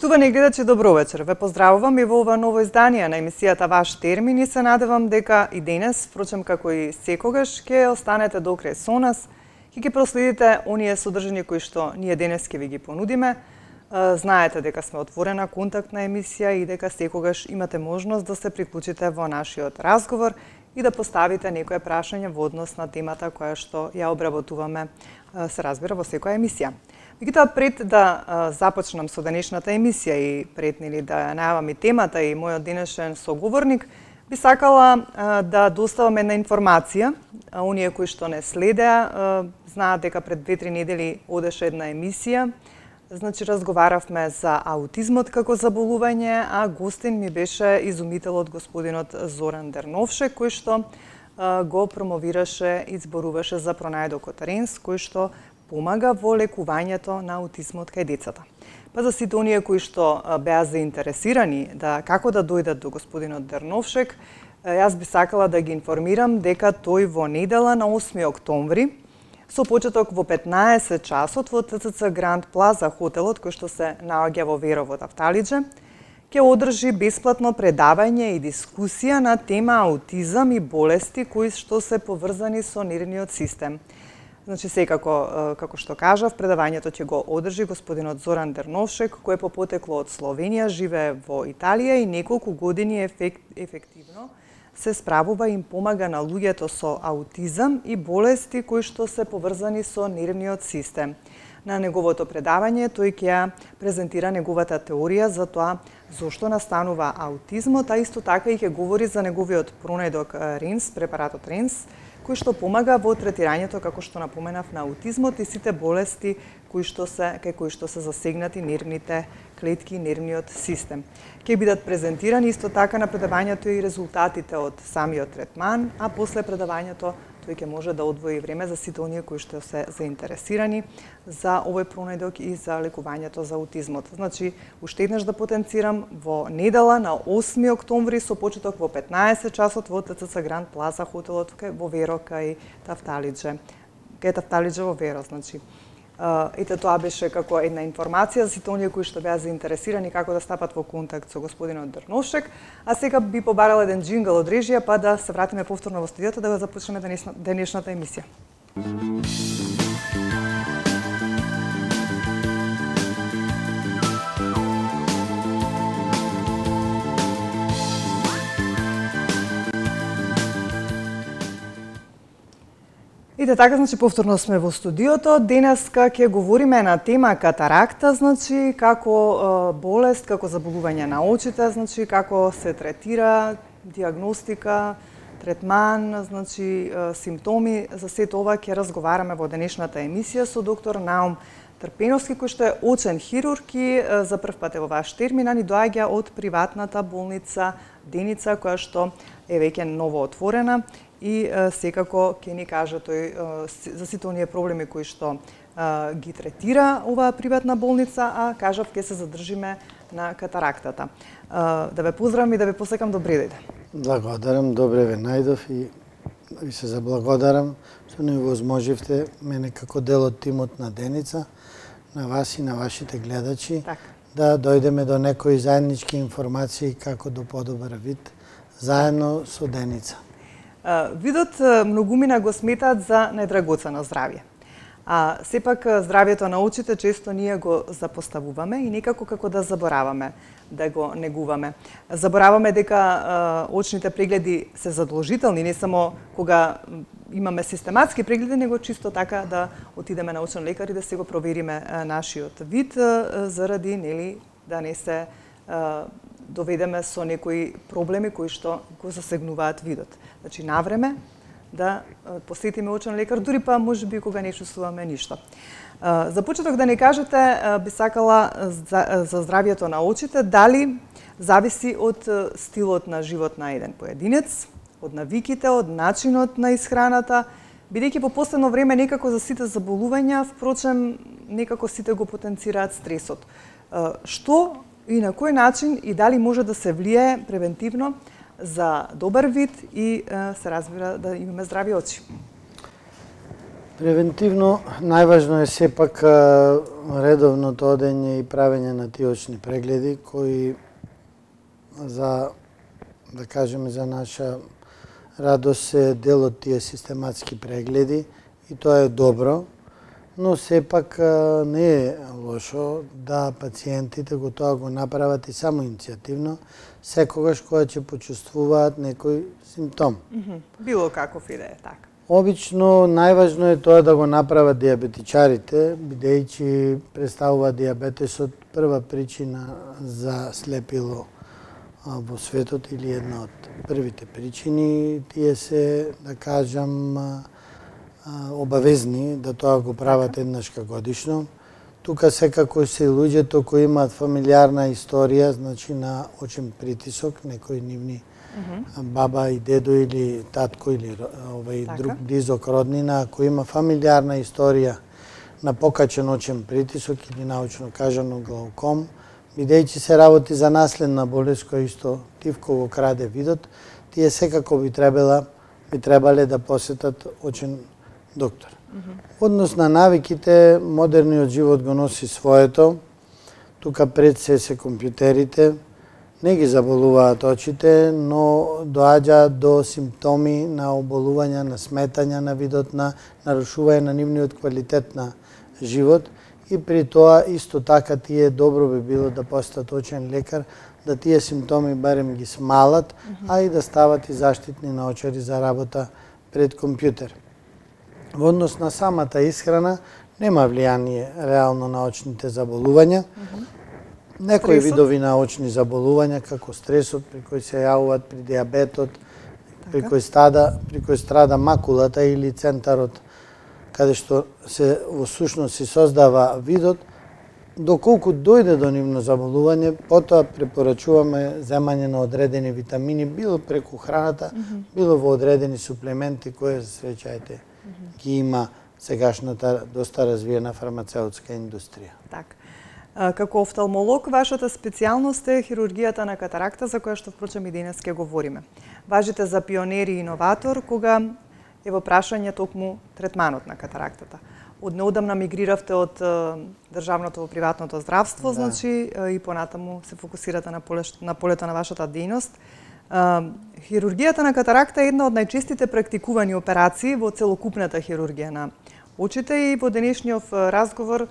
Почитувани гледачи, добро вечер. Ве поздравувам и во ова ново издание на емисијата Ваш термин и се надевам дека и денес, впрочем како и секогаш, ќе останете до крај со нас и ќе проследите оние содржини кои што ние денес ќе ви ги понудиме. Знаете дека сме отворена контактна емисија и дека секогаш имате можност да се приклучите во нашиот разговор и да поставите некое прашање во однос на темата која што ја обработуваме, се разбира, во секоја емисија. Меѓутоа, пред да започнам со денешната емисија и пред да најавам и темата и мојот денешен соговорник, би сакала да доставам една информација. Оние кои што не следеа, знаат дека пред 2-3 недели одеше една емисија. Значи, разговаравме за аутизмот како заболување, а гостин ми беше изумителот господинот Зоран Дерновшек, кој што го промовираше и зборуваше за пронајдокот РЕНС, кој што помага во лекувањето на аутизмот кај децата. Па за сите оние кои што беа заинтересирани како да дојдат до господинот Дерновшек, јас би сакала да ги информирам дека тој во недела на 8 октомври, со почеток во 15 часот во ТЦЦ Гранд Плаза хотелот, кој што се наоѓа во Верово, Тафталиџе, ќе одржи бесплатно предавање и дискусија на тема аутизам и болести кои што се поврзани со нервниот систем. Значи, секако, како што кажав, предавањето ќе го одржи господинот Зоран Дерновшек, кој по потекло од Словенија, живее во Италија и неколку години ефективно се справува и им помага на луѓето со аутизам и болести кои што се поврзани со нервниот систем. На неговото предавање тој ќе презентира неговата теорија за тоа зошто настанува аутизмот, а исто така и ќе говори за неговиот пронајдок РЕНС, препаратот РЕНС, кој што помага во третирањето, како што напоменав, на аутизмот и сите болести кои што се засегнати нервните клетки и нервниот систем. Ќе бидат презентирани исто така на предавањето и резултатите од самиот третман, а после предавањето тој ќе може да одвои време за сите оние кои што се заинтересирани за овој пронајдок и за лекувањето за аутизмот. Значи, уште еднаш да потенцирам, во недела на 8 октомври со почеток во 15 часот во ТЦЦ Гранд Плаза хотелот во Веро кај Тафталиџе. Кај Тафталиџе во Веро, значи. Ете, тоа беше како една информација за сите оние кои што беа заинтересирани како да стапат во контакт со господинот Дерновшек. А сега би побарала еден джингл од режија, па да се вратиме повторно во студиото да го започнеме денешната емисија. Ите така, значи, повторно сме во студиото. Денеска ќе говориме на тема катаракта, значи, како болест, како заболување на очите, значи, како се третира, диагностика, третман, значи, симптоми. За сето ова ќе разговараме во денешната емисија со доктор Наум Трпеновски, кој што е очен хирург и за прв пат во Ваш термин, ни доаѓа од приватната болница Деница, која што е веќе ново отворена. И секако ќе ни каже тој за сите оние проблеми кои што ги третира оваа приватна болница, а кажав ќе се задржиме на катарактата. Да ве поздравам и да ве посекам добри дојде. Благодарам, добре ве најдов и ви се заблагодарам што ни возможивте мене како дел од тимот на Деница, на вас и на вашите гледачи, да дојдеме до некои заеднички информации како до подобар вид заедно со Деница. Видот многумина го сметаат за најдрагоцено здравје. А сепак здравјето на очите често ние го запоставуваме и некако како да забораваме да го негуваме. Забораваме дека очните прегледи се задолжителни, не само кога имаме систематски прегледи, него чисто така да отидеме на очен лекар и да се го провериме нашиот вид, заради да не се доведеме со некои проблеми кои што го засегнуваат видот. Значи, навреме да посетиме очен лекар, дури па можеби кога не чувствуваме ништо. За почеток да ни кажете, би сакала за здравјето на очите, дали зависи од стилот на живот на еден поединец, од навиките, од начинот на исхраната, бидејќи по последно време некако за сите заболувања, впрочем, некако сите го потенцираат стресот. Што и на кој начин и дали може да се влие превентивно за добар вид и се разбира да имаме здрави очи? Превентивно најважно е сепак редовното одење и правење на тие очни прегледи кои за да кажеме за наша радост се дел од тие систематски прегледи и тоа е добро, но сепак не е лошо да пациентите го направат и само иницијативно, секогаш кога ќе почувствуваат некој симптом. Било каков и да е така. Обично најважно е тоа да го направат диабетичарите, бидејќи представува диабетесот прва причина за слепило во светот или една од првите причини. Тие се, да кажам, обавезни да тоа го прават еднашка годишно. Тука секако се луѓето кои имаат фамилиарна историја, значи на очен притисок, некои нивни баба и дедо или татко или друг близок роднина, ако има фамилиарна историја на покачен очен притисок или научно кажано глауком, бидејќи се работи за наследна болест која исто тивко го краде видот, тие секако би требале да посетат очен доктор. Однос на навиките, модерниот живот го носи своето. Тука пред се компјутерите, не ги заболуваат очите, но доаѓа до симптоми на оболување, на сметање на видот, на нарушување на нивниот квалитет на живот. И при тоа исто така тие добро би било да посетат очен лекар, да тие симптоми барем ги смалат, а и да стават и заштитни наочари за работа пред компјутер. Во однос на самата исхрана нема влијание реално на очните заболувања. Некои видови на очни заболувања, како стресот, при кој се јавуваат при диабетот, при кој страда макулата или центарот, каде што се во сушност се создава видот, доколку дојде до нивно заболување, потоа препорачуваме земање на одредени витамини, било преку храната, било во одредени суплементи кои, среќајте, ги има сегашната доста развиена фармацеутска индустрија. Така. Како офталмолог, вашата специјалност е хирургијата на катаракта, за која што впрочем и денес ќе говориме. Важите за пионер и иноватор, кога е во прашање токму третманот на катарактата. Од неодамна мигриравте од државното во приватното здравство, значи и понатаму се фокусирате на полето на вашата дејност. Хирургијата на катаракта е една од најчестите практикувани операции во целокупната хирургија на очите и во денешниот разговор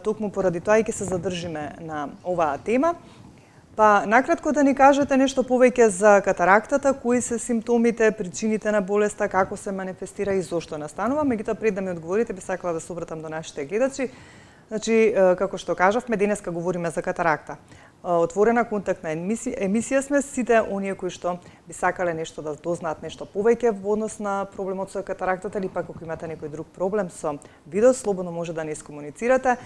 токму поради тоа и ќе се задржиме на оваа тема. Па, накратко да ни кажете нешто повеќе за катарактата, кои се симптомите, причините на болеста, како се манифестира и зошто настанува. Меѓутоа, пред да ми одговорите, би сакала да се обратам до нашите гледачи. Значи, како што кажавме, денеска говориме за катаракта. Отворена контактна емисија сме, сите оние кои што би сакале нешто да дознаат нешто повеќе во однос на проблемот со катарактата или пак ако имате некој друг проблем со видот, слободно може да не искомуницирате.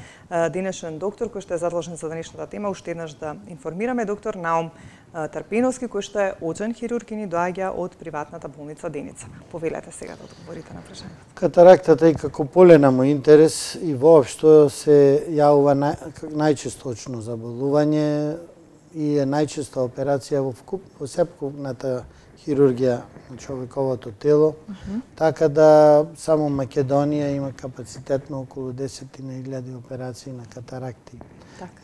Денешен доктор кој што е задлажен за денешната тема, уште еднаш да информираме, доктор Наум Тарпиновски, кој што е очен хирург и ни доаѓа од приватната болница Деница. Повелете сега да одговорите на прашањето. Катарактата и како поленамо интерес и воопшто се јавува најчесто очно заболување и е најчеста операција во сепкупната хирургија на човековото тело, така да само Македонија има капацитет на околу 10.000 операции на катаракти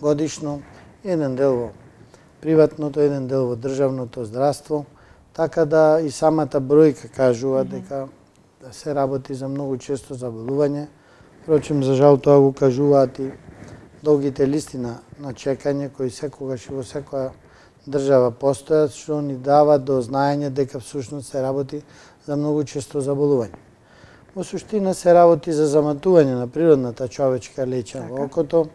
годишно, еден дел во приватното, еден дел во државното здравство, така да и самата бројка кажува дека се работи за многу често заболување. Впрочем, за жал тоа го кажуваат и долгите листи на чекање кои секогаш и во секоја држава постојат, што ни дава до знаење дека всушност се работи за многу често заболување. Во суштина се работи за заматување на природната човечка леќа во окото.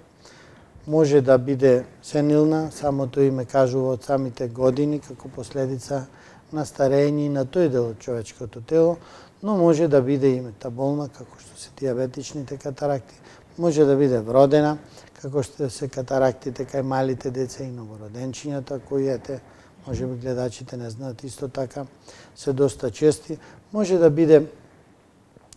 Може да биде сенилна, самото име кажува од самите години, како последица на старење на тој дел од човечкото тело, но може да биде и метаболна, како што се диабетичните катаракти, може да биде вродена, како што се катарактите кај малите деца и новороденчињата, кои може би гледачите не знаат исто така, се доста чести. Може да биде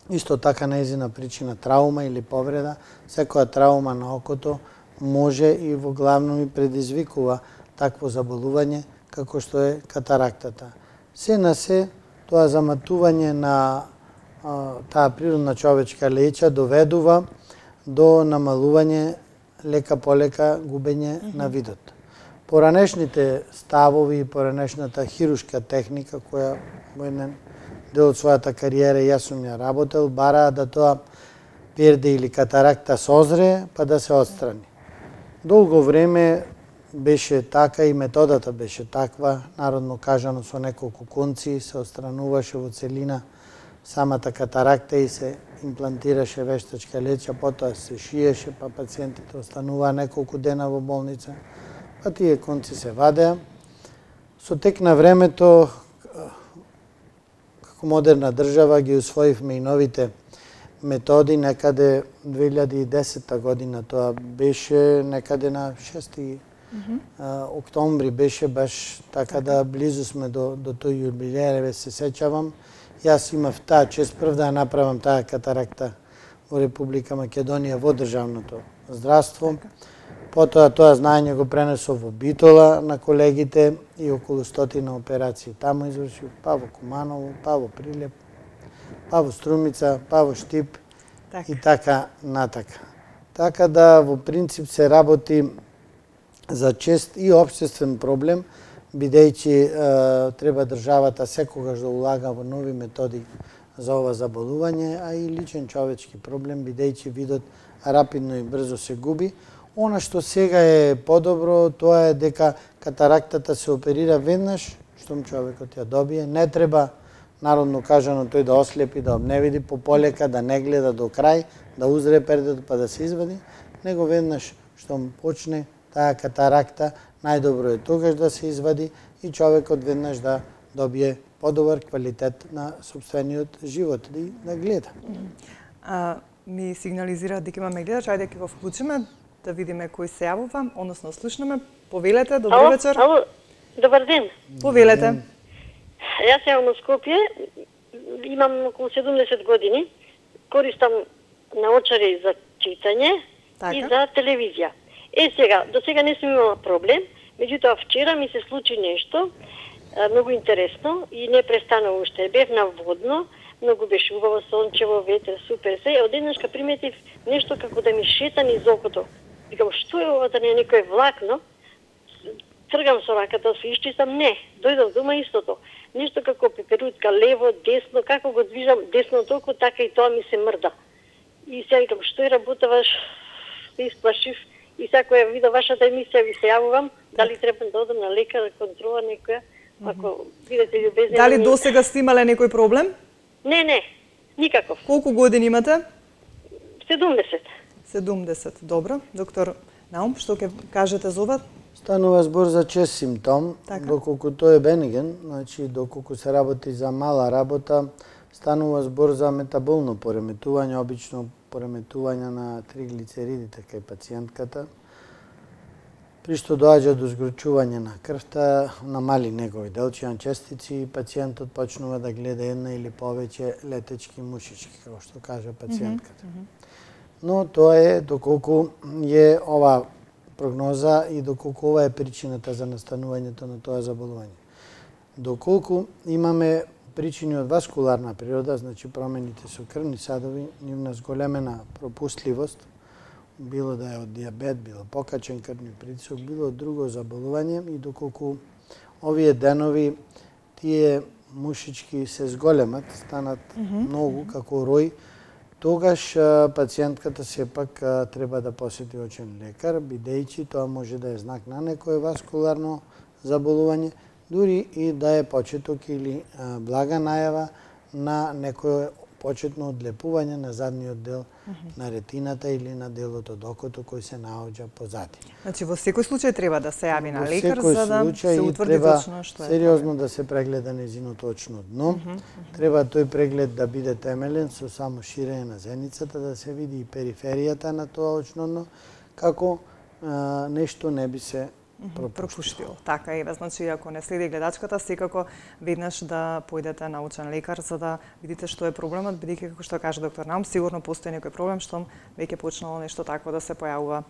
исто така нејзина причина траума или повреда. Секоја траума на окото може и во главно и предизвикува такво заболување како што е катарактата. Се на се, тоа заматување на таа природна човечка леќа доведува до намалување лека полека губење на видот. Поранешните ставови и поранешната хирушка техника која во еден дел од својата кариера јас сум ја работел, бараа да тоа перде или катаракта созре, па да се отстрани. Долго време беше така и методата беше таква, народно кажано со неколку конци се отстрануваше во целина самата катаракта и се имплантираше вештачка леќа, потоа се шиеше, па пациентите остануваа неколку дена во болница, па тие конци се вадеа. Со тек на времето, како модерна држава, ги усвоивме и новите методи, некаде 2010 година, тоа беше некаде на 6 октомври беше баш така да близу сме до тој јубилеј, се сеќавам. Јас имав таа чест прв да направам таа катаракта во Република Македонија во државното здравство. Потоа тоа знаење го пренесов во Битола на колегите и околу 100 операции таму извршив, па во Куманово, па во Прилеп, па во Струмица, па во Штип и така натака. Така да во принцип се работи за чест и општествен проблем, бидејќи треба државата секогаш да улага во нови методи за ова заболување, а и личен човечки проблем, бидејќи видот рапидно и брзо се губи. Она што сега е подобро, тоа е дека катарактата се оперира веднаш, штом човекот ја добие. Не треба, народно кажано, тој да ослепи, да обневиди пополека, да не гледа до крај, да узре пердето па да се извади, него веднаш штом почне таа катаракта, најдобро е тогаш да се извади и човекот веднаш да добие подобар квалитет на сопствениот живот и да гледа. Ми сигнализира дека имаме гледач, ајде ќе го вклучиме да видиме кој се јавува, односно слушнеме. Повелете, добар вечер. Ало, добар ден. Повелете. Јас јавам од Скопје, имам околу 70 години, користам наочари за читање и за телевизија. Сега, до сега не сум имала проблем, меѓутоа вчера ми се случи нешто многу интересно и не престанува уште. Бев на водно, многу беше убаво, сончево, ветер, супер се. Одеднашка приметив нешто како да ми шета низ окото. Викам, што е ова, да не е некој влакно? Тргам со раката, се исчистам, не. Дојдов дома истото. Нешто како пеперутка, лево, десно, како го движам десно толку, така и тоа ми се мрда. И сега викам, што е работаваш? Се исплашив. И сега ја видов вашата емисија, ви се јавувам, дали треба да одам на лекар, контрола некоја, ако бидете љубезни. Дали досега сте имале некој проблем? Не, никаков. Колку години имате? 70. 70, добро. Доктор Наум, што ќе кажете за ова? Станува збор за чест симптом, доколку тој е бениген, значи доколку се работи за мала работа, станува збор за метаболно пореметување, обично пореметување на триглицеридите кај пациентката, при што доаѓа до згрчување на крвта, намали негови делчијан честици и пациентот почнува да гледа една или повеќе летечки мушички, како што кажа пациентката. Но тоа е доколку е ова прогноза и доколку ова е причината за настанувањето на тоа заболување. Доколку имаме причини од васкуларна природа, значи промените со крвни садови, нивна зголемена пропустливост, било да е од диабет, било покачен крвни притисок, било од друго заболување и доколку овие денови тие мушички се зголемат, станат многу како рој, тогаш пациентката сепак треба да посети очен лекар, бидејќи тоа може да е знак на некое васкуларно заболување, дури и да е почеток или блага најава на некое почетно одлепување на задниот дел на ретината или на делот од окото кој се наоѓа позади. Значи во секој случај треба да се јави на лекар за да се утврди точно што е. Сериозно да се прегледа нејзиното очно дно. Треба тој преглед да биде темелен со само ширење на зеницата, да се види и периферијата на тоа очно дно, како нешто не би се пропуштил. Така е, значи ако не следи гледачката, секако веднаш да појдете на очен лекар за да видите што е проблемот, бидејќи како што каже доктор Наум, сигурно постои некој проблем што веќе почнало нешто такво да се појавува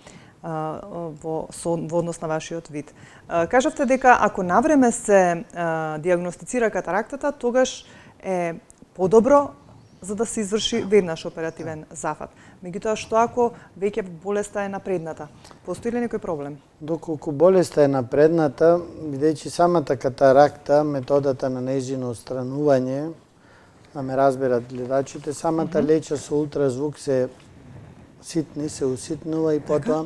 во однос на вашиот вид. Кажавте дека ако навреме се дијагностицира катарактата, тогаш е подобро за да се изврши веднаш оперативен зафат. Меѓутоа, што ако веќе болеста е напредната? Постои ли некој проблем? Доколку болеста е напредната, бидејќи самата катаракта, методата на нејзино отстранување, да ме разберат гледачите, самата леча со ултразвук се ситни, се уситнува и потоа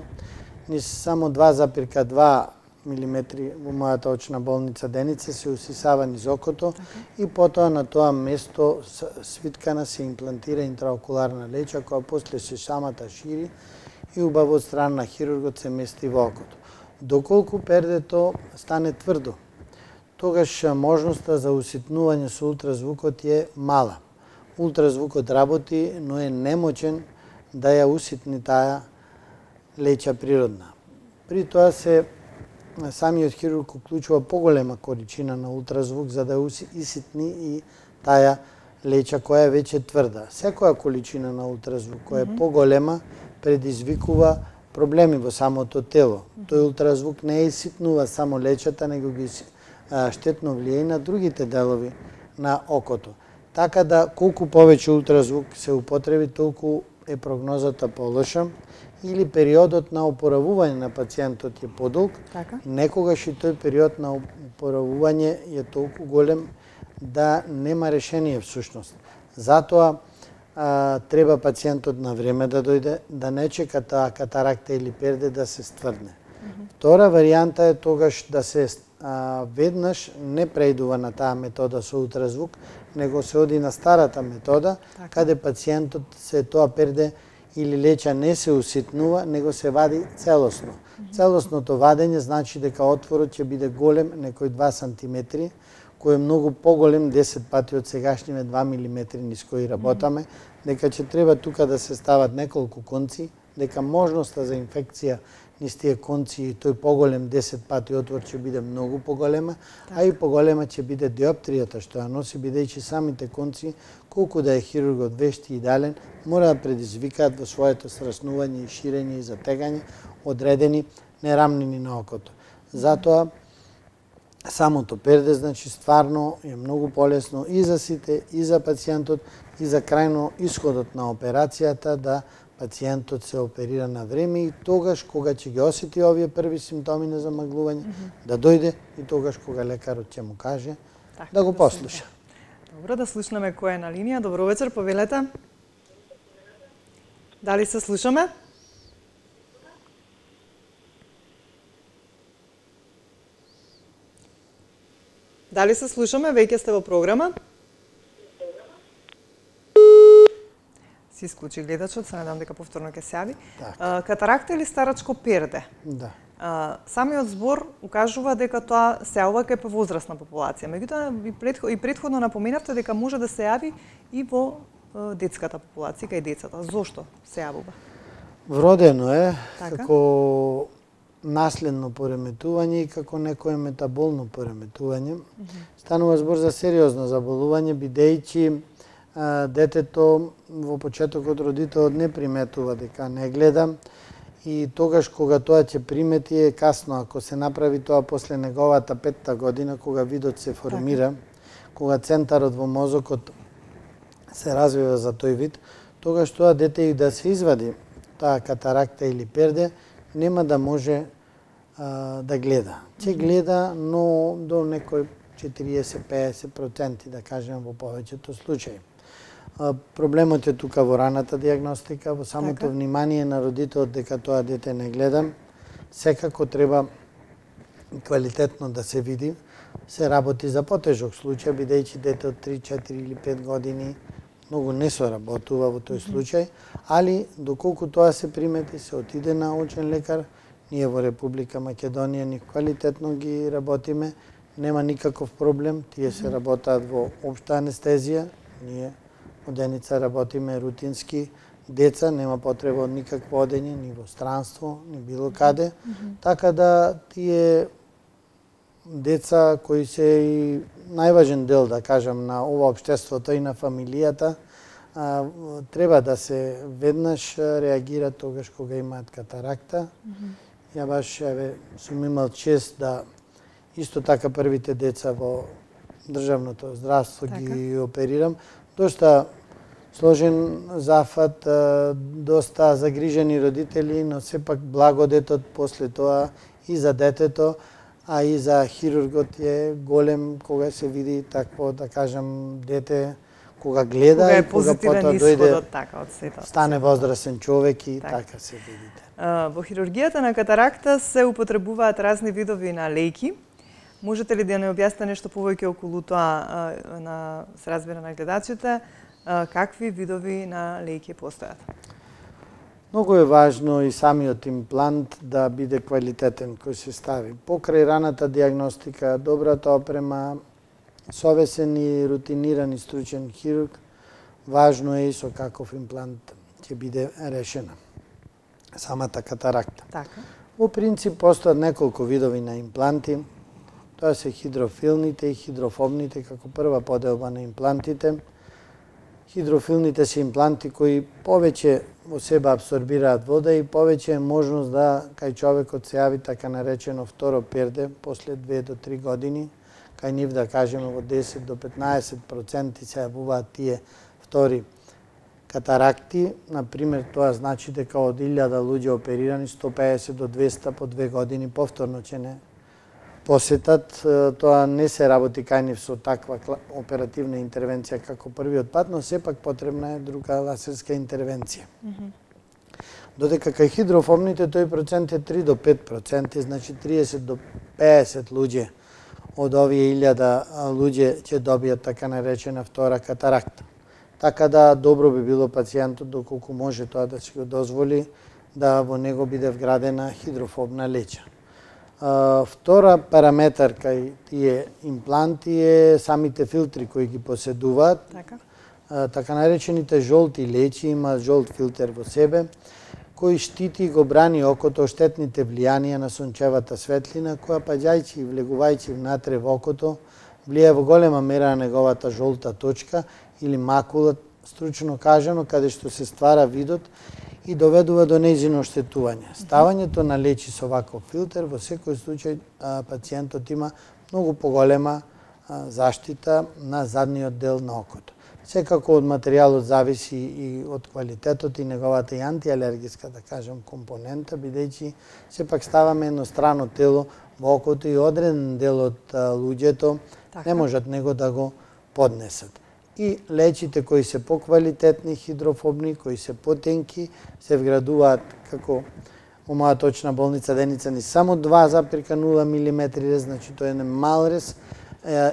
низ само 2,2 милиметри во мојата очна болница Деница се усисава низ окото и потоа на тоа место свиткана се имплантира интраокуларна леча која после се самата шири и убаво од страна на хирургот се мести во окото. Доколку пердето стане тврдо, тогаш можноста за уситнување со ултразвукот е мала. Ултразвукот работи, но е немочен да ја уситни таа леча природна. При тоа се самиот хирург уклучува поголема количина на ултразвук за да уситни и таа леча која е веќе тврда. Секоја количина на ултразвук која е поголема предизвикува проблеми во самото тело. Тој ултразвук не иситнува само лечата, него ги штетно влијае на другите делови на окото. Така да колку повеќе ултразвук се употреби, толку е прогнозата полоша или периодот на опоравување на пациентот е подолг, некогаш и тој период на опоравување е толку голем да нема решение всушност. Затоа треба пациентот на време да дојде, да не чека таа катаракта или перде да се стврдне. Втора варијанта е тогаш да се веднаш не преидува на таа метода со ултразвук, него се оди на старата метода, каде пациентот се тоа перде или леча не се уситнува, него се вади целосно. Целосното вадење значи дека отворот ќе биде голем, некој 2 сантиметри, кој е многу поголем, 10 пати од сегашниве 2 милиметри низ кои работаме, дека ќе треба тука да се стават неколку конци, дека можноста за инфекција низ тие конци и тој поголем 10 пати отвор ќе биде многу поголема, а и поголема ќе биде диоптријата што ја носи, бидејќи самите конци, колку да е хирургот вешт и идеален, мора да предизвикаат во своето сраснување и ширење и затегање одредени нерамнини на окото. Затоа самото перде, значи, стварно е многу полесно и за сите, и за пациентот, и за крајно исходот на операцијата да пациентот се оперира на време и тогаш кога ќе ги осети овие први симптоми на замаглување, да дојде и тогаш кога лекарот ќе му каже да го послуша. Добро, да слушнеме кој е на линија. Добро вечер, повелете. Дали се слушаме? Дали се слушаме? Веќе сте во програма. Си исклучи гледачот, се надам дека повторно ќе се јави. Катаракта или старачко перде? Да. Самиот збор укажува дека тоа се јавува кај повозрасна популација. Меѓутоа и претходно напоменавте дека може да се јави и во детската популација, кај децата. Зошто се јавува? Вродено е како наследно пореметување и како некое метаболно пореметување. Станува збор за сериозно заболување, бидејќи детето во почетокот родителот не приметува дека не гледа и тогаш кога тоа ќе примети е касно ако се направи тоа после неговата 5-та година кога видот се формира, кога центарот во мозокот се развива за тој вид, тогаш тоа дете и да се извади таа катаракта или перде, нема да може да гледа. Ќе гледа, но до некој 40-50% да кажем во повеќето случаи. Проблемот е тука во раната диагностика, во самото внимание на родителот дека тоа дете не гледа. Секако треба квалитетно да се види. Се работи за потежок случај, бидејќи дете од 3, 4 или 5 години многу не се работува во тој случај, али доколку тоа се примети, се отиде на очен лекар. Ние во Република Македонија ни квалитетно ги работиме, нема никаков проблем, тие се работаат во општа анестезија, ние од Деница работиме рутински, деца, нема потреба од никакво одење, ни во странство, ни било каде, така да тие деца кои се и најважен дел, да кажам, на ова општеството и на фамилијата, треба да се веднаш реагираат тогаш кога имаат катаракта. Ја баш сум имал чест да исто така првите деца во државното здравство ги оперирам. Дошта сложен зафат, доста загрижени родители, но сепак благодетот после тоа и за детето, а и за хирургот е голем кога се види такво, да кажам, дете, кога гледа кога и кога потоа дојде, така, од сето. стане возрасен човек и така се видите. Во хирургијата на катаракта се употребуваат разни видови на лејки. Можете ли да не објасните нешто повеќе околу тоа, се разбира на гледачите, какви видови на лејки постојат? Многу е важно и самиот имплант да биде квалитетен кој се стави. Покрај раната диагностика, добрата опрема, совесен и рутиниран и стручен хирург, важно е и со каков имплант ќе биде решена самата катаракта. Така. Во принцип постојат неколку видови на импланти. Тоа се хидрофилните и хидрофобните како прва поделба на имплантите. Хидрофилните се импланти кои повеќе во себе абсорбираат вода и повеќе е можност да кај човекот се јави така наречено второ перде после 2 до 3 години. Кај нив да кажеме во 10 до 15% се јавуваат тие втори катаракти. Например, тоа значи дека од 1000 луѓе оперирани, 150 до 200 по 2 години повторно ќе не посетат. Тоа не се работи кај нив со таква оперативна интервенција како првиот пат, но сепак потребна е друга лазерска интервенција. Додека кај хидрофобните тој процент е 3 до 5%, значи 30 до 50 луѓе од овие 1000 луѓе ќе добијат така наречена втора катаракта. Така да добро би било пациентот доколку може тоа да се го дозволи да во него биде вградена хидрофобна леќа. Втора параметар кај тие импланти е самите филтри кои ги поседуваат. Така наречените жолти леќи има жолт филтер во себе, кој штити и го брани окото од штетните влијанија на сончевата светлина, која паѓајќи и влегувајќи внатре во окото, влијае во голема мера на неговата жолта точка или макула, стручно кажано, каде што се ствара видот и доведува до нејзино оштетување. Ставањето на леќи со ваков филтер во секој случај пациентот има многу поголема заштита на задниот дел на окото. Секако од материјалот зависи и од квалитетот и неговата и антиалергиска, да кажем, компонента, бидејќи сепак ставаме еднострано тело во окото и одреден дел од луѓето не можат него да го поднесат. И леќите кои се поквалитетни, хидрофобни, кои се потенки, се вградуваат како во моја точна болница Деница ни само 2,0 мм рез, значи тоа е мал рез,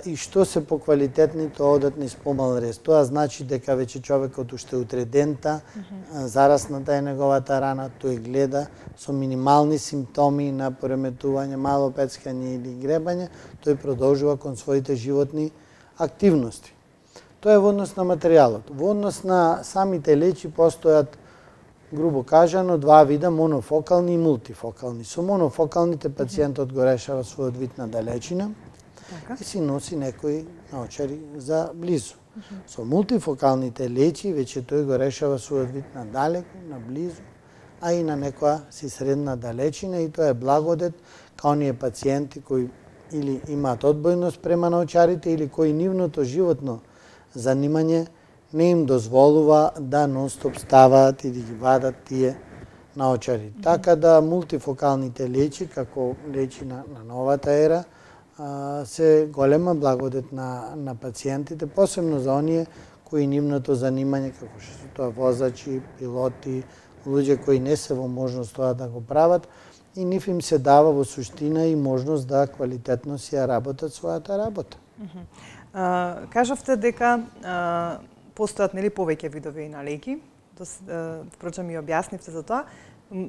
и што се поквалитетни, тоа одат низ помал рез. Тоа значи дека веќе човекот уште утре дента, зарасната е неговата рана, тој гледа со минимални симптоми на пореметување, мало пецкање или гребање, тој продолжува кон своите животни активности. Тоа е во однос на материјалот. Во однос на самите леќи постојат, грубо кажано, два вида, монофокални и мултифокални. Со монофокалните пациентот го решава својот вид на далечина и си носи некои наочари за близу. Со мултифокалните леќи веќе тој го решава својот вид на далеку, на близу, а и на некоја си средна далечина, и тоа е благодет као оние пациенти кои или имаат одбојност према наочарите или кои нивното животно занимање не им дозволува да нон-стоп ставаат и да ги вадат тие наочари. Така да мултифокалните леќи, како леќи на новата ера, се голема благодет на пациентите, посебно за оние кои нивното занимање, како што се тоа возачи, пилоти, луѓе кои не се во можност тоа да го прават, и нив им се дава во суштина и можност да квалитетно си ја работат својата работа. Кажавте дека постојат повеќе видови на леќи, впрочем и објаснивте за тоа.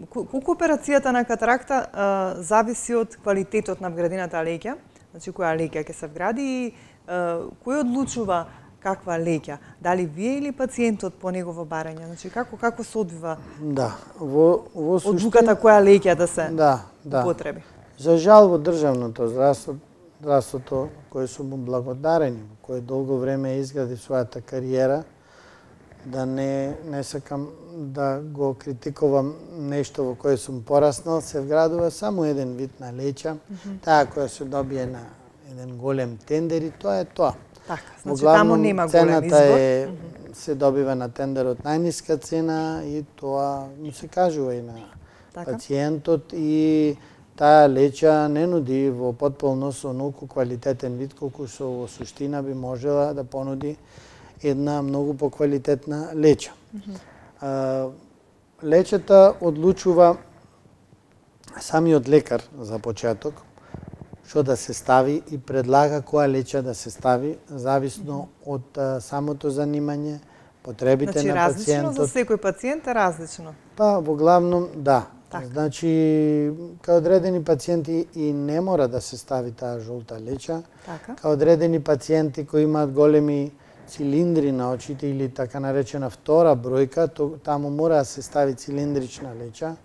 Колку операцијата на катаракта зависи од квалитетот на вградената леќа, значи која леќа ќе се вгради и кој одлучува каква леќа? Дали вие или пациентот по негово барање? Значи како се одвива? Да, во суштина одлуката која леќа да се употреби? За жал во државното здравството, кое сум му благодарени, кој долго време изгради својата кариера, да не сакам да го критикувам нешто во кое сум пораснал, се вградува само еден вид на леќа, таа која се добие на еден голем тендер и тоа е тоа. Така, значи таму нема голем избор. Се добива на тендерот најниска цена и тоа му се кажува и на пациентот и таа леча не нуди во потполно со многу квалитетен вид колку што во суштина би можела да понуди една многу поквалитетна леча. Лечата одлучува самиот лекар за почеток што да се стави и предлага која леча да се стави зависно од самото занимање, потребите значи, на пациентот. Значи различно за секој пациент е различно. Па во главном да. Так. Значи кај одредени пациенти и не мора да се стави таа жолта леча. Така. Кај одредени пациенти кои имаат големи цилиндри на очите или така наречена втора бројка, таму мора да се стави цилиндрична леча.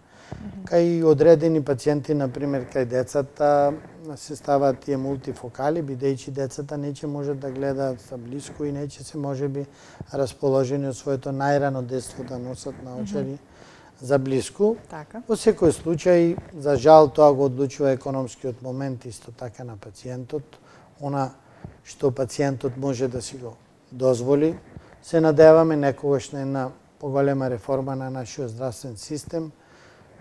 Кај одредени пациенти, например, кај децата се ставаат тие мултифокали, бидејќи децата не ќе можат да гледаат за блиску и не ќе се можеби расположени од своето најрано детство да носат наочари за блиску. Така. Во секој случај, за жал, тоа го одлучува економскиот момент исто така на пациентот. Она што пациентот може да си го дозволи. Се надеваме некогаш на една поголема реформа на нашиот здравствен систем,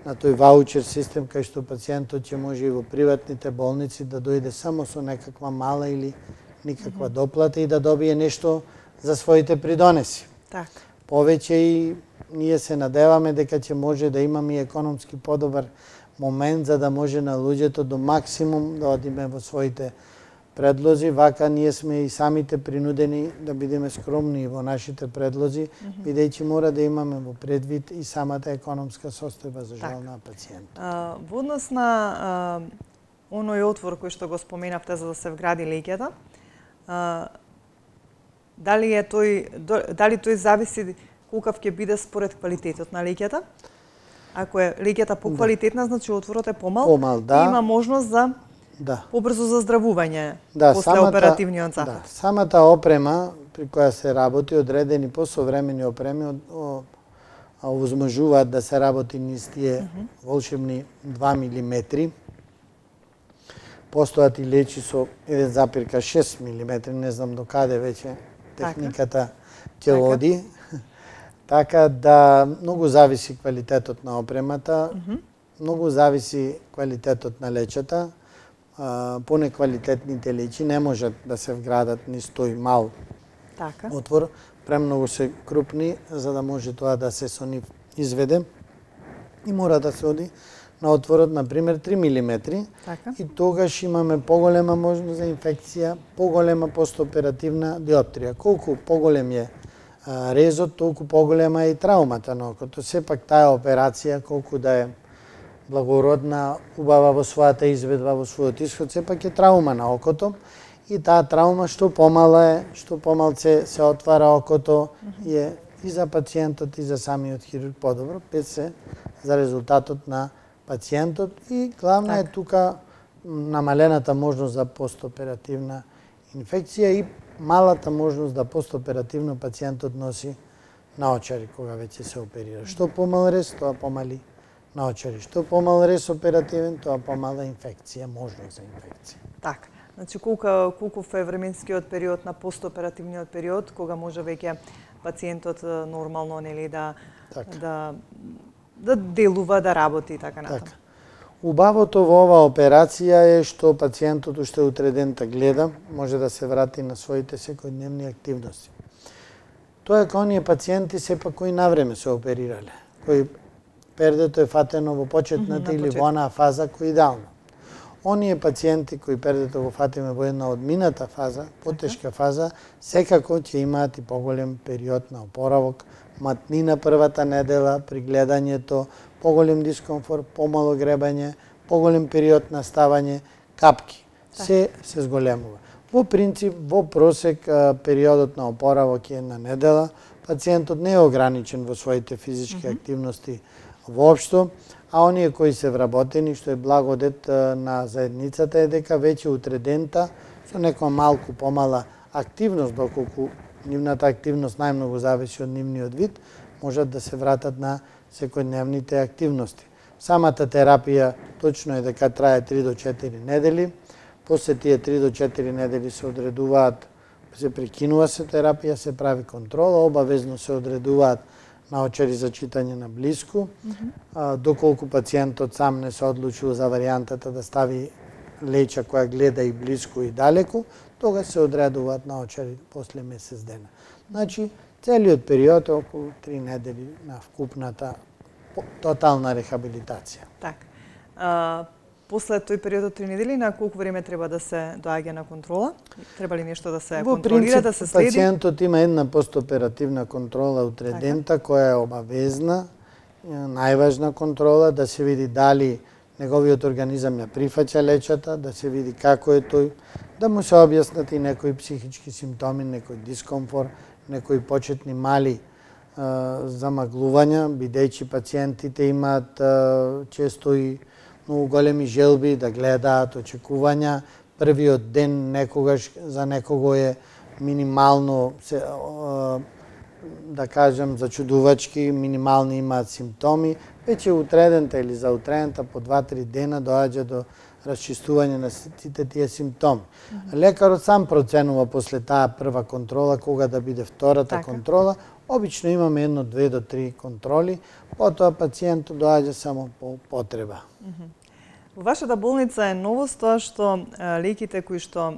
на тој ваучер систем кај што пациентот ќе може и во приватните болници да дојде само со некаква мала или никаква доплата и да добие нешто за своите придонеси. Така. Повеќе и ние се надеваме дека ќе може да имаме и економски подобар момент за да може на луѓето до максимум да одиме во своите предлози, вака ние сме и самите принудени да бидеме скромни во нашите предлози, бидејќи мора да имаме во предвид и самата економска состојба за жал на пациент. Во однос на оној отвор кој што го споменавте за да се вгради леќата, дали тој зависи колкав ќе биде според квалитетот на леќата? Ако е леќата поквалитетна, значи отворот е помал, да. И има можност за побрзо заздравување после оперативниот захват. Да, самата опрема при која се работи, одредени посовремени опреми овозможуваат да се работи низ тие волшебни 2 милиметри. Постојат и лечи со 1,6 милиметри, не знам до каде веќе техниката ќе оди. Така да многу зависи квалитетот на опремата, многу зависи квалитетот на лечата. Понеквалитетните лечи не можат да се вградат низ тој мал отвор, премногу се крупни за да може тоа да се со нив изведе и мора да се оди на отворот, например, 3 милиметри и тогаш имаме поголема можност за инфекција, поголема постоперативна диоптрија. Колку поголем е резот, толку поголема е и траумата на окото. Сепак таа операција, колку да е благородна, убава во својата изведба, во својот исход, сепак е траума на окото и таа траума што помала е, што помалце се отвара окото е и за пациентот и за самиот хирург подобро, без се за резултатот на пациентот и главна е тука намалената можност за постоперативна инфекција и малата можност да постоперативно пациентот носи наочари кога веќе се оперира. Што помал рез, тоа помали наочари. Што помал рез оперативен, тоа помала инфекција, можност за инфекција. Така. Значи колков е временскиот период на постоперативниот период кога може веќе пациентот нормално нели да делува, да работи така натаму. Убавото во оваа операција е што пациентот уште утреден да гледа, може да се врати на своите секојдневни активности. Тоа е кај оние пациенти сепак кои навреме се оперирале, кои пердето е фатено во почетната или во онаа фаза кој идеално. Оние пациенти кои пердето го фатиме во една одмината фаза, потешка фаза, секако ќе имаат и поголем период на опоравок, матнина првата недела при гледањето, поголем дискомфорт, помало гребање, поголем период на ставање, капки. Се зголемува. Во принцип, во просек периодот на опоравок е една недела, пациентот не е ограничен во своите физички активности воопшто, а оние кои се вработени, што е благодет на заедницата е дека веќе утредента со некоја малку помала активност, доколку нивната активност најмногу зависи од нивниот вид, можат да се вратат на секојдневните активности. Самата терапија точно е дека трае 3 до 4 недели. после тие 3 до 4 недели се одредуваат, се прекинува се терапија, се прави контрола, обавезно се одредуваат научари за читање на блиску, доколку пациентот сам не се одлучил за варијантата да стави леќа која гледа и блиску и далеку, тога се одредуваат научари после месец дена. Значи, целиот период е околу 3 недели на вкупната тотална рехабилитација. Так. После тој период од 3 недели, на колку време треба да се доаѓа на контрола? Треба ли нешто да се контролира, да се следи? Пациентот има една постоперативна контрола утредента, која е обавезна, најважна контрола, да се види дали неговиот организам ја прифаќа лечата, да се види како е тој, да му се објаснат и некои психички симптоми, некој дискомфорт, некои почетни мали замаглувања, бидејќи пациентите имаат често и многу големи желби да гледаат, очекувања. Првиот ден некогаш за некого е минимално, да кажем, зачудувачки, минимални имаат симптоми. Веќе утредента или за утредента по 2-3 дена доаѓа до расчистување на сите тие симптоми. Лекарот сам проценува после таа прва контрола кога да биде втората контрола. Обично имаме 1, 2 до 3 контроли, потоа пациентот доаѓа само по потреба. Во вашата болница е новост тоа што леките кои што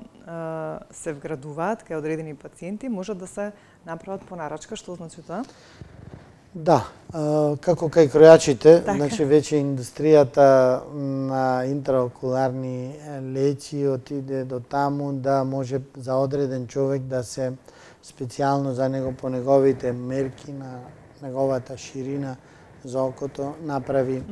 се вградуваат кај одредени пациенти можат да се направат по нарачка. Што значи тоа? Да, како кај кројачите, значи веќе индустријата на интраокуларни леќи отиде до таму да може за одреден човек да се специјално за него по неговите мерки на неговата ширина за окото направи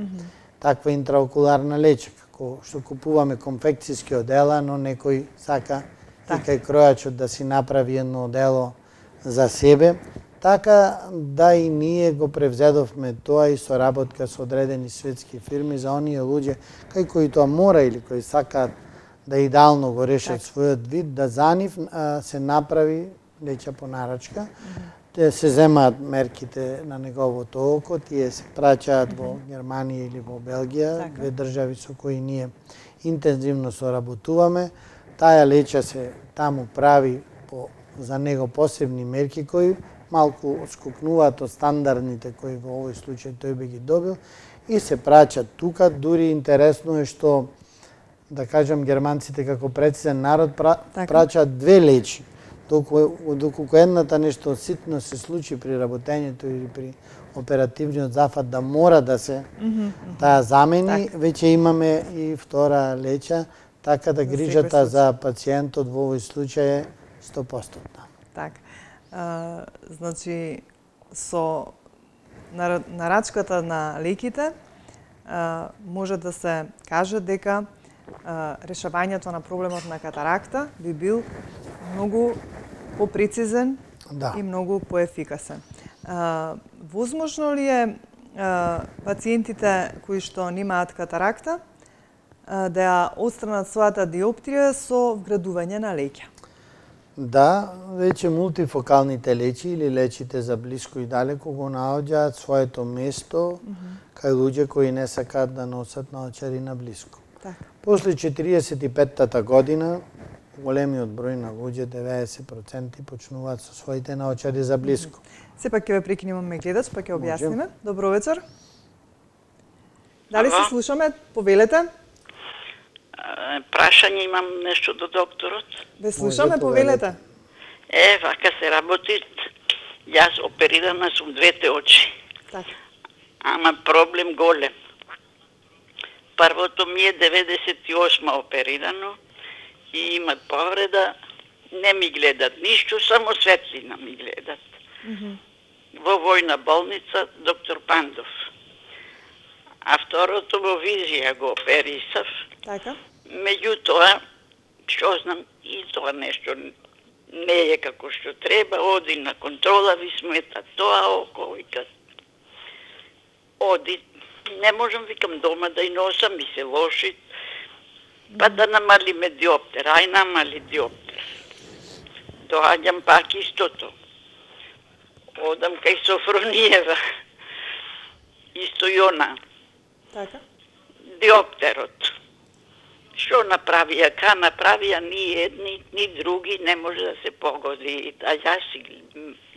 таква интраокуларна леќа, како што купуваме конфекцијски одела, но некој сака и кај кројачот да си направи едно одело за себе. Така да и ние го превзедовме тоа и соработка со одредени светски фирми за оние луѓе кај кои тоа мора или кои сакаат да идеално го решат својот вид, да за нив се направи леќа по нарачка. Те се земаат мерките на неговото око, тие се праќаат во Германија или во Белгија, две држави со кои ние интензивно соработуваме. Таа леќа се таму прави за него посебни мерки кои малку отскокнуваат од стандардните кои во овој случај тој би ги добил и се праќат тука. Дури интересно е што, да кажам, германците како прецизен народ праќаат 2 леќи. Доколку едната нешто ситно се случи при работењето или при оперативниот зафат да мора да се таа замени, веќе имаме и втора леќа, така да грижата за пациентот во овој случај е 100%. Така. Значи, со нарачката на леките може да се каже дека решавањето на проблемот на катаракта би бил многу попрецизен и многу поефикасен. Возможно ли е пациентите кои што немаат катаракта да ја отстранат својата диоптрија со вградување на леќа? Да, веќе мултифокалните леќи или леќите за блиску и далеку го наоѓаат своето место кај луѓе кои не сакаат да носат наочари на блиску. После 45-та година големиот број на луѓе, 90%, почнуваат со своите наочари за блиску. Сепак ќе ве прекинеме гледач, па ќе објасниме. Добро вечер. Дали се слушаме? Повелете. Прашање имам нешто до докторот. Ве слушаме, повелете. Вака се работи. Јас оперирана сум двете очи. Така. Ама проблем голем. Првото ми е 98 оперирано и имат повреда. Не ми гледат ништо, само светлина ми гледат. Во војна болница доктор Пандов. А второто во визија го оперисав. Така. Меѓутоа, што знам, и тоа нешто не е како што треба, оди на контрола, ви смета тоа око, вика. Оди, не можам, викам, дома да и носам, ми се лоши, па да намалиме диоптер, ај намали диоптер. Доаѓам пак истото. Одам кај Софрониева, исто и она. Така. Диоптерот. Што направија, ка направија, ни едни, ни други не може да се погоди. А јас си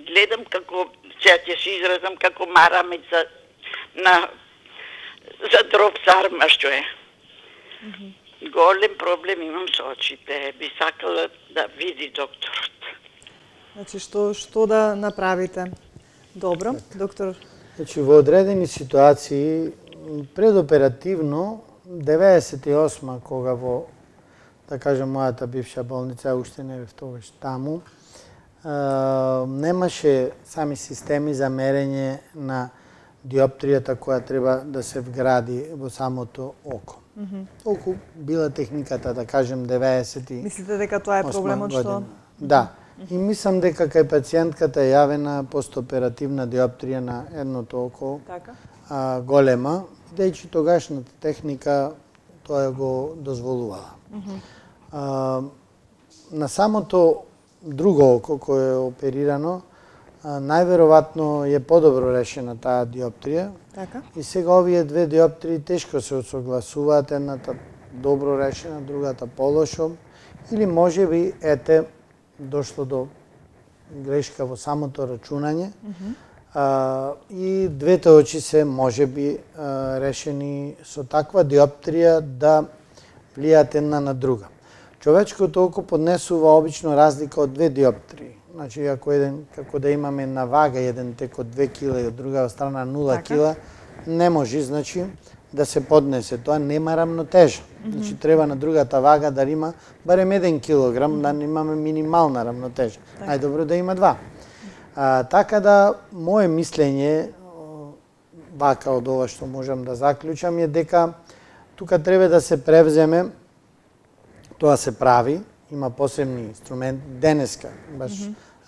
гледам како, сега ќе се изразам како марамица за дроб царма што е. Голем проблем имам со очите. Би сакала да види докторот. Значи, што да направите? Добро, доктор? Значи, во одредени ситуации, предоперативно, 98 кога во, да кажем, мојата бивша болница, уште не бев тогаш таму, немаше сами системи за мерење на диоптријата која треба да се вгради во самото око. Толку била техниката, да кажем, 90. Мислите дека тоа е проблемот што? Да. И мислам дека кај пациентката е јавена постоперативна диоптрија на едното око, голема, бидејќи тогашната техника тоа го дозволувала. На самото друго око кое е оперирано, најверојатно е подобро решена таа диоптрија. И сега овие две диоптрии тешко се осогласуваат, едната добро решена, другата полошо, или можеби дошло до грешка во самото рачунање, и двете очи се можеби решени со таква диоптрија да влијаат една на друга. Човечкото око поднесува обично разлика од две диоптрии. Значи, ако како да имаме на вага, еден тек од 2 кила и од друга страна 0 кила, не може, значи, да се поднесе. Тоа нема рамнотежа. Значи, треба на другата вага да има барем 1 килограм, да имаме минимална рамнотежа. Најдобро да има 2. Така да, моje мислење, вака од ова што можам да заклучам, е дека тука треба да се превземе, тоа се прави, има посебни инструменти. Денеска баш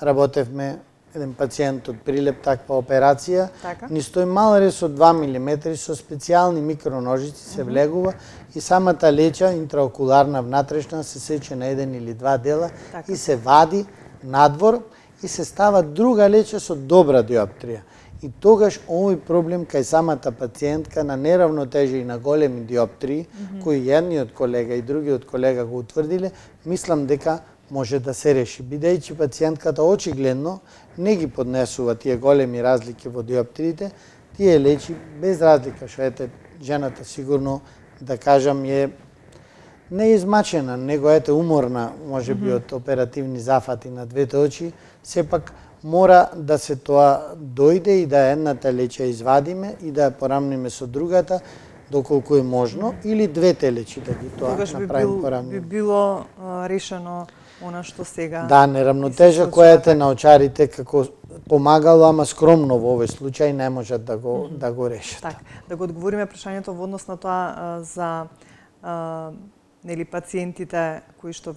работевме еден пациент од Прилеп, таква операција, ни стои мал рез од 2 мм со специјални микроножици се влегува и самата леќа интраокуларна внатрешна се сече на 1 или 2 дела и се вади надвор и се става друга леќа со добра диоптрија. И тогаш овој проблем кај самата пациентка на неравнотежа и на големи диоптрии, кои едниот колега и другиот колега го утврдиле, мислам дека може да се реши, бидејќи пациентката очигледно не ги поднесува тие големи разлики во диоптриите, тие лечи без разлика, што жената сигурно, да кажам, е не измачена, него уморна, може би, од оперативни зафати на двете очи, сепак мора да се тоа дојде и да едната леќа извадиме и да ја порамниме со другата, доколку е можно, или двете лечи да ги тоа направим порамниме. Би било решено она што сега... Да, неравнотежа која на очарите како помагало, ама скромно во овој случај не можат да го решат. Так, да го одговориме прашањето во однос на тоа за пациентите кои што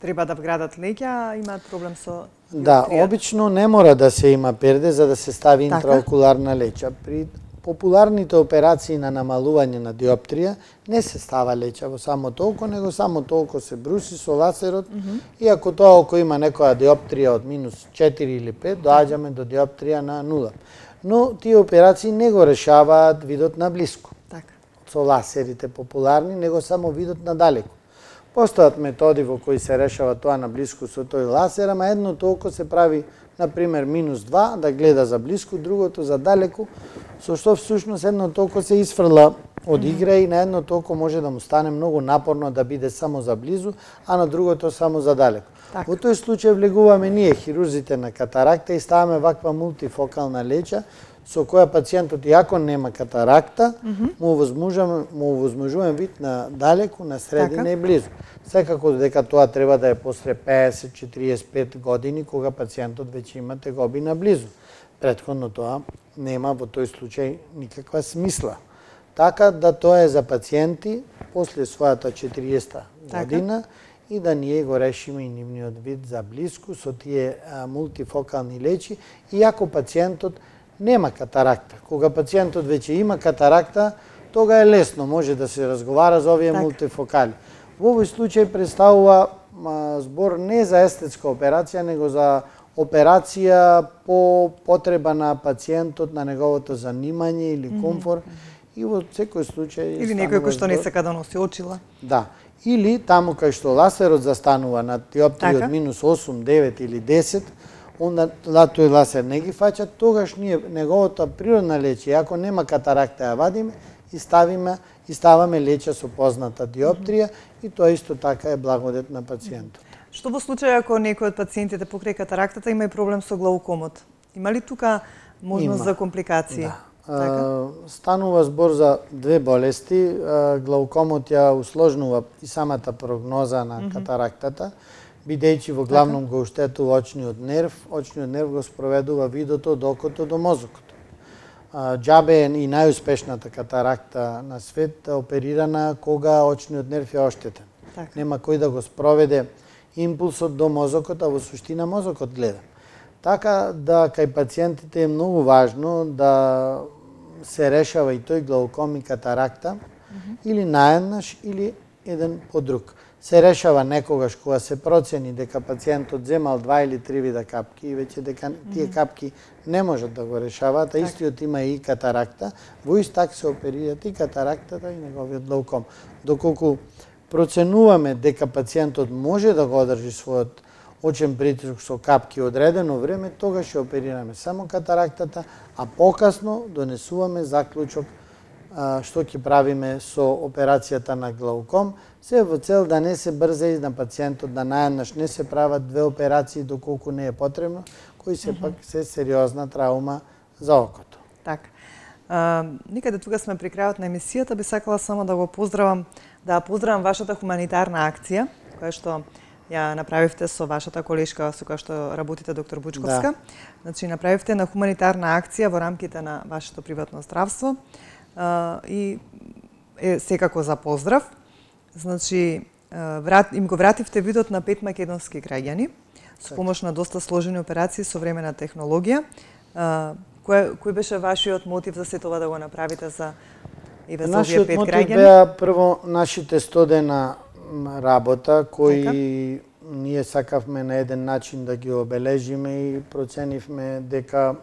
треба да вградат леќа, имаат проблем со диоптрија. Да, обично не мора да се има перде за да се стави интраокуларна леќа. При популарните операции на намалување на диоптрија не се става леќа во самото око, него самото око се бруси со ласерот и ако тоа око има некоја диоптрија од минус 4 или 5, доаѓаме до диоптрија на 0. Но тие операции не го решаваат видот на блиску. Со ласерите популарни, него само видот на далеку. Постојат методи во кои се решава тоа на блиску со тој ласер, ама едното око се прави, например, минус 2, да гледа за блиску, другото за далеку, со што всушност едното око се исфрла од игра и на едното око може да му стане многу напорно да биде само за близу, а на другото само за далеку. Во тој случај влегуваме ние, хирурзите на катаракта, и ставаме ваква мултифокална леќа, со која пациентот, иако нема катаракта, му возможуваме вид на далеку, на средина и близу. Секако дека тоа треба да е после 50-45 години, кога пациентот веќе има тегоби на близу. Претходно тоа нема во тој случај никаква смисла. Така да тоа е за пациенти после својата 40-та година и да ние го решиме и нивниот вид за блиску со тие мултифокални лечи, иако пациентот нема катаракта. Кога пациентот веќе има катаракта, тога е лесно, може да се разговара за овие мултифокали. Во овој случај представува збор не за естетска операција, него за операција по потреба на пациентот, на неговото занимање или комфорт, и во секој случај или некој кој што не сака да носи очила. Да. Или таму кај што ласерот застанува на диоптрија од минус 8, 9 или 10, онда тој ласер не ги фаќа, тогаш ние неговото природна лече, ако нема катаракта, ја вадиме и ставаме леча со позната диоптрија и тоа исто така е благодет на пациентот. Што во случај ако некој од пациентите покрај катарактата има и проблем со глаукомот? Има ли тука можност за компликации? Да. Станува збор за две болести. Глаукомот ја усложнува и самата прогноза на катарактата, бидејќи во главном го оштетува очниот нерв. Очниот нерв го спроведува видото од окото до мозокот. Џабе е и најуспешната катаракта на свет оперирана кога очниот нерв е оштетен. Нема кој да го спроведе импулсот до мозокот, а во суштина мозокот гледа. Така да кај пациентите е многу важно да се решава и тој глауком и катаракта или наеднаш или еден по друг. Се решава некогаш кога се процени дека пациентот земал 2 или 3 вида капки и веќе дека тие капки не можат да го решаваат, а истиот има и катаракта, во ист так се оперираат и катарактата и неговиот глауком. Доколку проценуваме дека пациентот може да го одржи својот очен притисок со капки одредено време, тогаш ќе оперираме само катарактата, а покасно донесуваме заклучок што ќе правиме со операцијата на глауком, се во цел да не се брза и на пациентот да наеднаш не се прават две операции доколку не е потребно, кои се пак се сериозна траума за окото. Така. Никаде тука сме при крајот на емисијата, би сакала само да го поздравам, да поздравам вашата хуманитарна акција, која што ја направивте со вашата колешка со која што работите, доктор Бучковска. Значи, направивте на хуманитарна акција во рамките на вашето приватно здравство и е секако за поздрав. Значи, им го вративте видот на 5 македонски граѓани со помош на доста сложени операции со времена технологија. Кој беше вашиот мотив за се това да го направите за овие 5 граѓани? Нашиот мотив беа прво нашите 100 дена работа кои ние сакавме на еден начин да ги обележиме и проценивме дека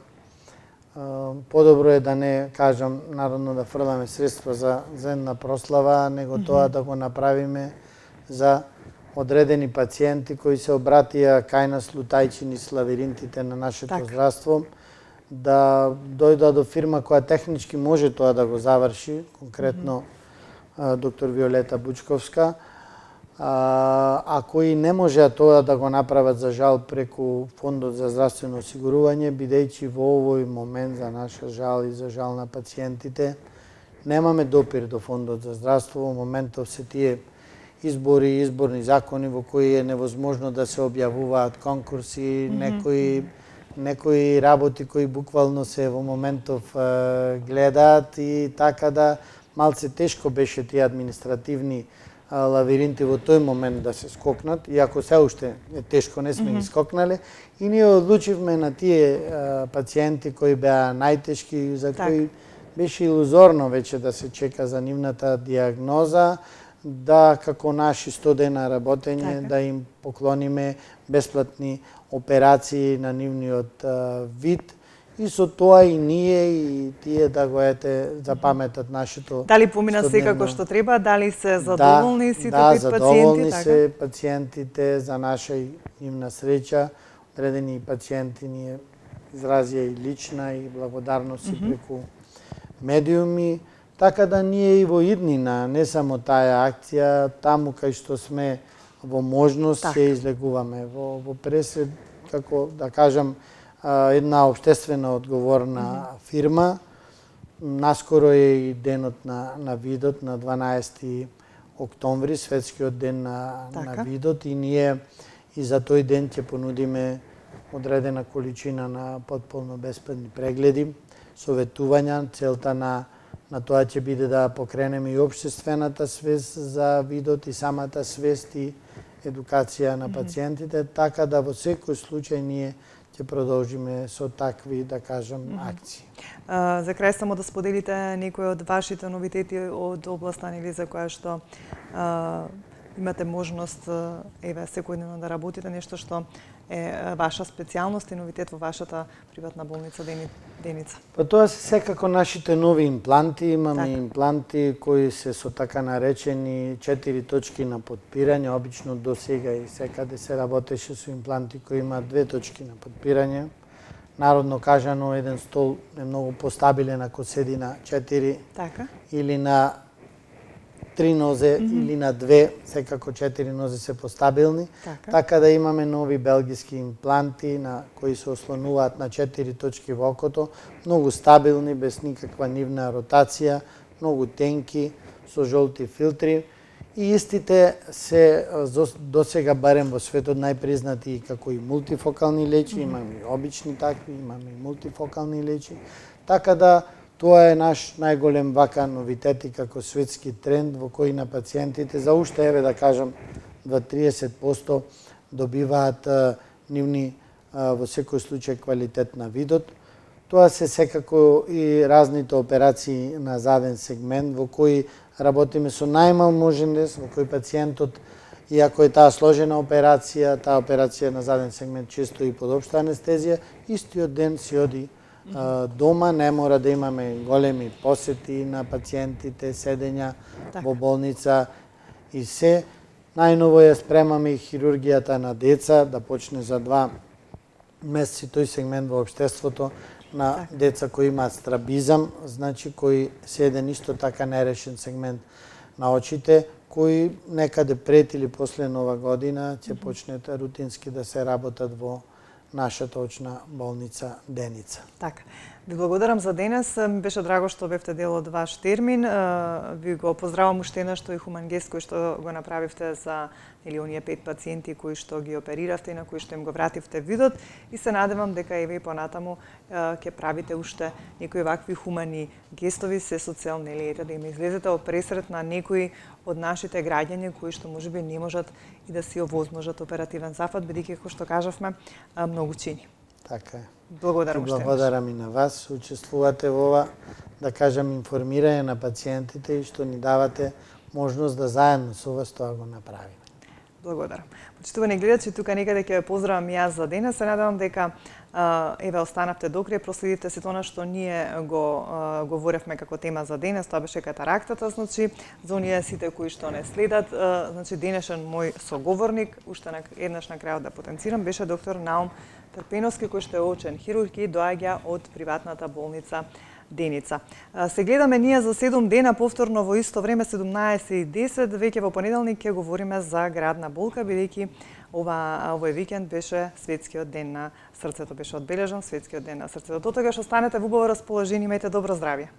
подобро е да не кажам народно да фрламе средства за една прослава, него тоа да го направиме за одредени пациенти кои се обратија кај нас лутајчини славиринтите на нашето здравство, да дојдат до фирма која технички може тоа да го заврши, конкретно доктор Виолета Бучковска, а кои не можеа тоа да го направат за жал преку Фондот за здравствено осигурување, бидејќи во овој момент за наша жал и за жал на пациентите немаме допир до Фондот за здравство. Во моментов се тие избори и изборни закони во кои е невозможно да се објавуваат конкурси, некои работи кои буквално се во моментов гледаат и така да малце тешко беше тие административни лавиринти во тој момент да се скокнат, иако се уште е тешко, не сме ги скокнале, и ние одлучивме на тие пациенти кои беа најтешки, за кои беше илузорно веќе да се чека за нивната диагноза, да како наши 100 дена работење да им поклониме бесплатни операции на нивниот вид, и со тоа и ние и тие да го запаметат нашето. Дали помина секако што треба, дали се задоволни сите пациенти? Да, задоволни се пациентите, за наша и нивна среќа. Одредени пациенти ни изразија и лична и благодарност и преку медиуми, така да ние и во иднина, не само таа акција, таму кај што сме во можност ќе излегуваме во пресед, како да кажам, една општествено одговорна фирма. Наскоро е и денот на видот, на 12 октомври, светскиот ден на видот, и ние и за тој ден ќе понудиме одредена количина на потполно бесплатни прегледи, советувања. Целта на тоа ќе биде да покренеме и општествената свест за видот и самата свест и едукација на пациентите, така да во секој случај ние ќе продолжиме со такви, да кажам, акции. За крај само да споделите некои од вашите новитети од областа, нели, за која што имате можност секојдневно да работите нешто што е ваша специјалност и новитет во вашата приватна болница Деница? Па тоа се секако нашите нови импланти. Имаме импланти кои се со така наречени 4 точки на подпирање. Обично до сега и секаде се работеше со импланти кои имаат 2 точки на подпирање. Народно кажано, еден стол е многу постабилен ако седи на 4 или на 3 нозе или на 2, секако 4 нозе се постабилни. Така да имаме нови белгиски импланти на кои се ослонуваат на 4 точки во окото, многу стабилни, без никаква нивна ротација, многу тенки, со жолти филтри. И истите се досега барем во светот најпризнати како и мултифокални лечи, имаме и обични такви, имаме и мултифокални лечи. Така да тоа е наш најголем вака новитет и како светски тренд во кој на пациентите за уште, еве да кажам, 20-30% добиваат нивни во секој случај квалитет на видот. Тоа се секако и разните операции на заден сегмент во кои работиме со најмал можен дес, во кој пациентот, иако е таа сложена операција, таа операција на заден сегмент често и под општа анестезија, истиот ден си оди дома, не мора да имаме големи посети на пациентите, седења во болница и се. Најново ја спремаме и хирургијата на деца, да почне за 2 месеци тој сегмент во општеството на деца кои имаат страбизам, значи кои се еден исто така нерешен сегмент на очите, кои некаде пред или после Нова година ќе почнат рутински да се работат во нашата очна болница Деница. Така. Ви благодарам за денес. Ми беше драго што бевте дел од ваш термин. Ви го поздравам уште еднаш што и хуман гест кој што го направивте за оние 5 пациенти кои што ги опериравте и на кои што им го вративте видот, и се надевам дека и вие понатаму ќе правите уште некои вакви хумани гестови се со цел да им излезете во пресрет на некои од нашите граѓани кои што можеби не можат и да си овозможат оперативен зафат, бидејќи како што кажавме многу чини. Така е. Благодарам уште. Благодарам и на вас, учествувате во ова, да кажам, информирање на пациентите и што ни давате можност да заедно со вас тоа го направиме. Благодарам. Почитувани гледачи, тука некаде ќе ве поздравам и јас за денес. Се надевам дека еве останавте до крај, проследивте сето она што ние го говоревме како тема за денес, тоа беше катарактата, значи за оние сите кои што не следат, значи денешен мој соговорник, уште еднаш на крајот да потенцирам, беше доктор Наум Трпеновски, кој што е очен хирург и доаѓа од приватната болница Деница. Се гледаме ние за 7 дена повторно во исто време 17:10, веќе во понеделник ќе говориме за градна болка, бидејќи овој викенд беше светскиот ден на срцето, беше одбележан светскиот ден на срцето. До тогаш останете во убаво расположение, имајте добро здравје.